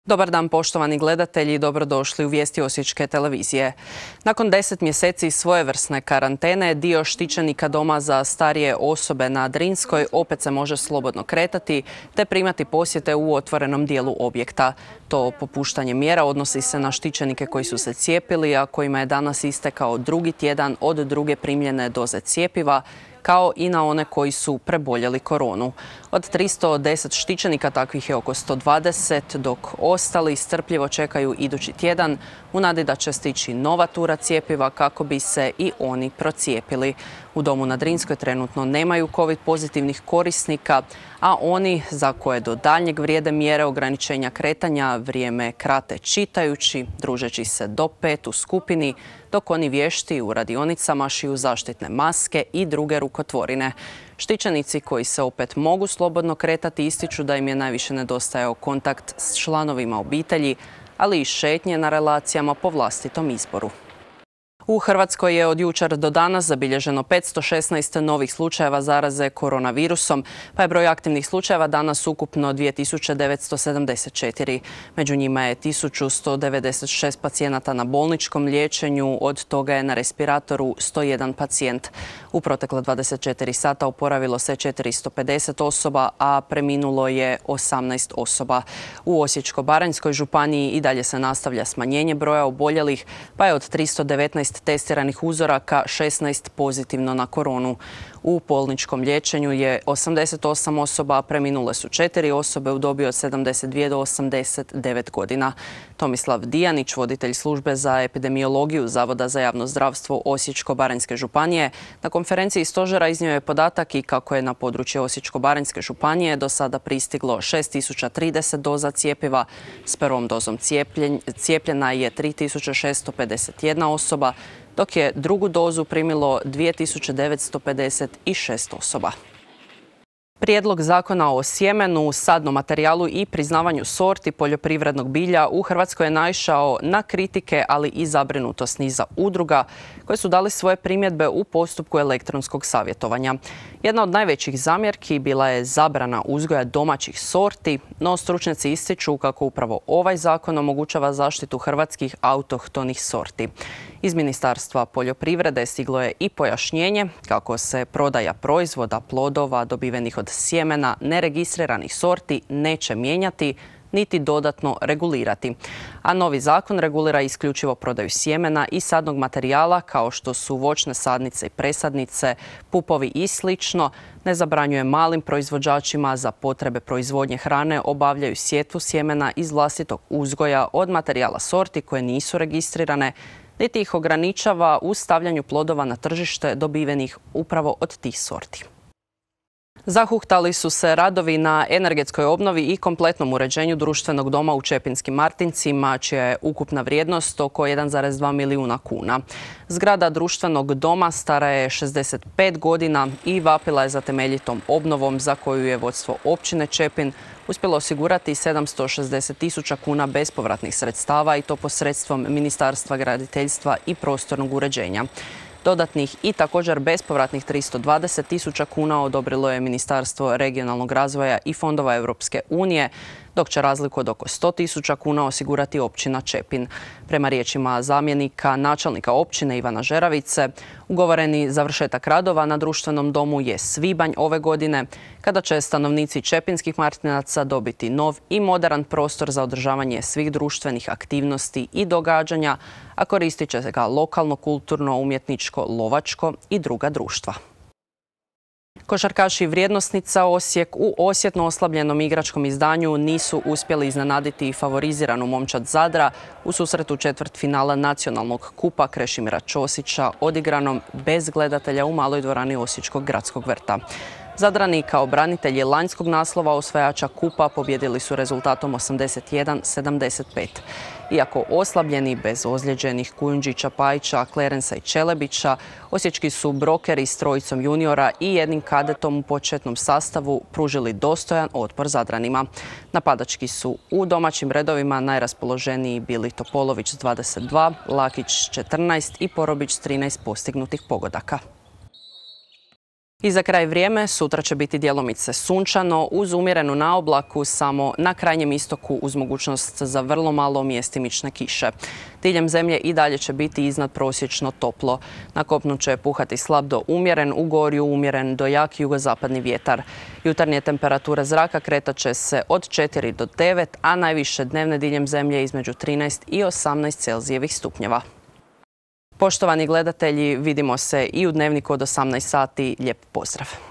Dobar dan poštovani gledatelji i dobrodošli u vijesti Osječke televizije. Nakon 10 mjeseci svojevrsne karantene, dio štićenika doma za starije osobe na Drinskoj opet se može slobodno kretati te primati posjete u otvorenom dijelu objekta. To popuštanje mjera odnosi se na štićenike koji su se cijepili, a kojima je danas istekao drugi tjedan od druge primljene doze cjepiva, kao i na one koji su preboljeli koronu. Od 310 štićenika takvih je oko 120, dok ostali strpljivo čekaju idući tjedan u nadi da će stići nova tura cjepiva kako bi se i oni procijepili. U domu na Drinskoj trenutno nemaju COVID pozitivnih korisnika, a oni za koje do daljnjeg vrijede mjere ograničenja kretanja vrijeme krate čitajući, družeći se do 5 u skupini, dok oni vješti u radionicama šiju zaštitne maske i druge rukotvorine. Štićenici koji se opet mogu slobodno kretati ističu da im je najviše nedostajao kontakt s članovima obitelji, ali i šetnje na relacijama po vlastitom izboru. U Hrvatskoj je od jučer do danas zabilježeno 516 novih slučajeva zaraze koronavirusom, pa je broj aktivnih slučajeva danas ukupno 2974. Među njima je 1196 pacijenata na bolničkom liječenju, od toga je na respiratoru 101 pacijent. U protekla 24 sata oporavilo se 450 osoba, a preminulo je 18 osoba. U Osječko-baranjskoj županiji i dalje se nastavlja smanjenje broja oboljelih, pa je od 319 testiranih uzoraka 16 pozitivno na koronu. U bolničkom liječenju je 88 osoba, a preminule su 4 osobe u dobi od 72 do 89 godina. Tomislav Dijanić, voditelj službe za epidemiologiju Zavoda za javno zdravstvo Osječko-baranjske županije, na konferenciji stožera iznio je podatak i kako je na područje Osječko-baranjske županije do sada pristiglo 6030 doza cjepiva. S prvom dozom cijepljena je 3651 osoba, dok je drugu dozu primilo 2956 osoba. Prijedlog zakona o sjemenu, sadnom materijalu i priznavanju sorti poljoprivrednog bilja u Hrvatskoj je naišao na kritike, ali i zabrinutost niza udruga koje su dali svoje primjedbe u postupku elektronskog savjetovanja. Jedna od najvećih zamjerki bila je zabrana uzgoja domaćih sorti, no stručnjaci ističu kako upravo ovaj zakon omogućava zaštitu hrvatskih autohtonih sorti. Iz Ministarstva poljoprivrede stiglo je i pojašnjenje kako se prodaja proizvoda, plodova dobivenih od sjemena neregistriranih sorti neće mijenjati niti dodatno regulirati. A novi zakon regulira isključivo prodaju sjemena i sadnog materijala kao što su voćne sadnice i presadnice, pupovi i slično. Ne zabranjuje malim proizvođačima za potrebe proizvodnje hrane obavljaju sjetvu sjemena iz vlastitog uzgoja od materijala sorti koje nisu registrirane, niti ih ograničava u stavljanju plodova na tržište dobivenih upravo od tih sorti. Zahuktali su se radovi na energetskoj obnovi i kompletnom uređenju društvenog doma u Čepinskim Martincima, čija je ukupna vrijednost oko 1,2 milijuna kuna. Zgrada društvenog doma stara je 65 godina i vapila je za temeljitom obnovom za koju je vodstvo općine Čepin uspjelo osigurati 760.000 kuna bespovratnih sredstava i to posredstvom Ministarstva graditeljstva i prostornog uređenja. Dodatnih i također bespovratnih 320.000 kuna odobrilo je Ministarstvo regionalnog razvoja i fondova Europske unije, dok će razliku od oko 100.000 kuna osigurati općina Čepin. Prema riječima zamjenika načelnika općine Ivana Žeravice, ugovoreni završetak radova na društvenom domu je svibanj ove godine, kada će stanovnici Čepinskih Martinaca dobiti nov i moderan prostor za održavanje svih društvenih aktivnosti i događanja, a koristit će ga lokalno, kulturno, umjetničko, lovačko i druga društva. Košarkaši Vrijednosnica Osijek u osjetno oslabljenom igračkom izdanju nisu uspjeli iznenaditi i favoriziranu momčad Zadra u susretu četvrtfinala nacionalnog kupa Krešimira Ćosića odigranom bez gledatelja u maloj dvorani Osječkog gradskog vrta. Zadrani kao branitelji lanjskog naslova osvajača kupa pobjedili su rezultatom 81-75. Iako oslabljeni bez ozlijeđenih Kujundžića, Pajića, Klerensa i Čelebića, osječki su brokeri s trojicom juniora i jednim kadetom u početnom sastavu pružili dostojan otpor Zadranima. Napadački su u domaćim redovima najraspoloženiji bili Topolović s 22, Lakić s 14 i Porobić s 13 postignutih pogodaka. I za kraj vrijeme, sutra će biti djelomice sunčano, uz umjerenu naoblaku samo na krajnjem istoku uz mogućnost za vrlo malo mjestimične kiše. Diljem zemlje i dalje će biti iznadprosječno toplo. Na kopnu će puhati slab do umjeren, u gorju umjeren do jak jugozapadni vjetar. Jutarnje temperature zraka kretat će se od 4 do 9, a najviše dnevne diljem zemlje između 13 i 18 Celzijevih stupnjeva. Poštovani gledatelji, vidimo se i u Dnevniku od 18 sati. Lijep pozdrav!